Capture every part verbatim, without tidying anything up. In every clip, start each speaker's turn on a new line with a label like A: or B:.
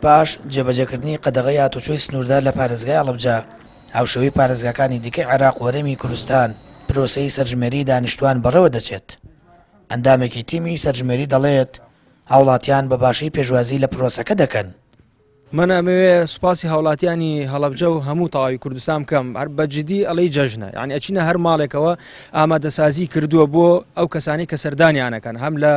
A: پاش جێبەجێکردنی قەدەغەی هاتوچۆی سنووردار لە پارێزگای هەڵەبجە، هاوشێوەی پارێزگاکانی دیکەی عێراق و هەرێمی کوردستان پرۆسەی سەرژمێری دانیشتوان بەڕێوە دەچێت. ئەندامێکی تیمی سەرژمێری دەڵێت هاوڵاتیان بە باشی پێشوازی لە پرۆسەکە دەکەن.
B: من ئەمەوێ سوپاسی هاوڵاتیانی هەڵەبجە و هەموو تەواوی کوردستان بکەم. هەر بە جدی ئەڵێی جەژنە، یعنی ئەچینە هەر ماڵێکەوە ئامادەسازی کردووە بۆ ئەو کەسانی کە سەردانیانەکەن، هەم لە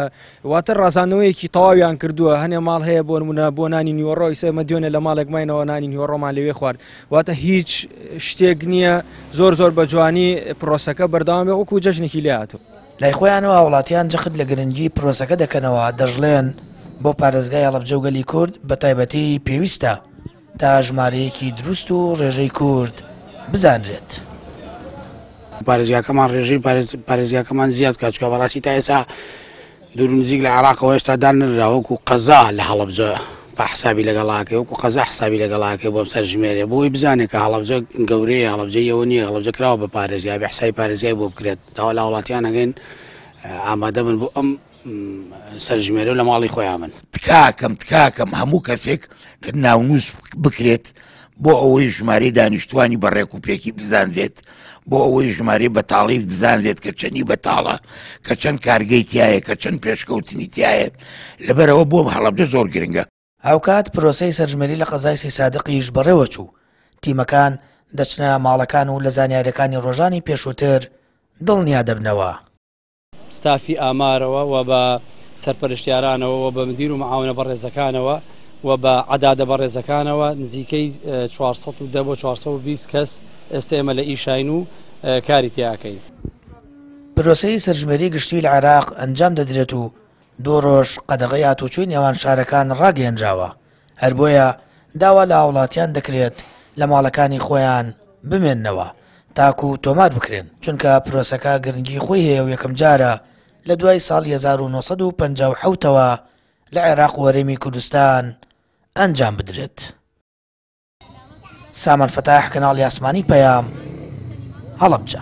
B: واتە ڕازاندنەوەیەکی تەواویان کردووە. هەنێ ماڵ هەیە بۆ نمونە بۆ نانی نیوەڕۆ، ئیسە ئێمە دوێنێ لە ماڵێک ماینەوە نانی نیوەڕۆمان لەوێ خوارد. واتە هیچ شتێک نییە، زۆر زۆر بە جوانی پرۆسەکە بەردەوام بێ وەکو جەژنێکی لێ هاتوو.
A: لای خۆیانەوە هاوڵاتیان جەخت لە گرنگی پرۆسەکە دەکەنەوە، دەژڵێن بۆ پارێزگای هەڵەبجە و گەلی کورد بە تایبەتی پێویستە تا ژمارەیەکی دروست و ڕێژەی کورد بزانرێت.
C: پارێزگاکەمان ڕێژەی پارێزگاکەمان زیاد کات، چونکە بەڕاستی تا ئێستا دوور و نزیک لە عێراقەوە هێشتا دانرا وەکو قەزا لە هەڵەبجە بە حسابی لەگەڵاکەی، وەکو قەزا حسابی لەگەڵاکەی بۆم سەرژمێرێ، بۆی بزانێت کە هەڵەبجە گەورەیە، هەڵەبجە ئەوە نییە، هەڵەبجە کراوە بە پارێزگا، بە حسابی پارێزگای بۆ بکرێت. داوا لە هاوڵاتیان ئەگەین ئامادە بن بۆ ئەم سەرژمێرە لە ماڵی خۆیان بن.
D: تکاکەم تکاکەم هەموو کەسێک کە ناونووس بکرێت بۆ ئەوەی ژمارەی دانیشتوانی بە ڕێک و پێکی بزانرێت، بۆ ئەوەی ژمارەی بەتاڵی بزانرێت کە چەندی بەتاڵە، کە چەند کارگەی تایە، کە چەند پێشکەوتنی تایە. لەبەرەوە بۆ هەڵەبجە زۆر گرنگە.
A: هاوکات پرۆسەی سەرژمێری لە قەزای سیسادقیش بەڕێوە چوو. تیمەکان دەچنە ماڵەکان و لە زانیاریەکانی ڕۆژانی پێشووتر دڵنیا دەبنەوە.
E: ستافی ئامارەوە و بە سەرپەرشتیارانەوە و بە مدیر و معاونە بەڕێزەکانەوە و بە عەدادە بەڕێزەکانەوە نزیکەی چوار سەد و دە بۆ چوار سەد و بیست کەس ئێستا ئێمە لە ئیشاین و کاری تیاکەین.
A: پرۆسەی سەرژمێری گشتی لە عێراق ئەنجام دەدرێت و دوو ڕۆژ قەدەغەی هاتوچۆی نێوان شارەکان ڕاگەیەنراوە، هەر بۆیە داوا لە هاوڵاتیان دەکرێت لە ماڵەکانی خۆیان بمێننەوە تاکو تۆمار بکرێن، چونکە پرۆسەکە گرنگی خۆی هەیە و یەکەم جارە لە دوای ساڵی هەزار و نۆ سەد و پەنجا و حەوتەوە لە عێراق و هەرێمی کوردستان ئەنجام بدرێت. سامان فەتاح، کەناڵی ئاسمانی پەیام، هەڵەبجە.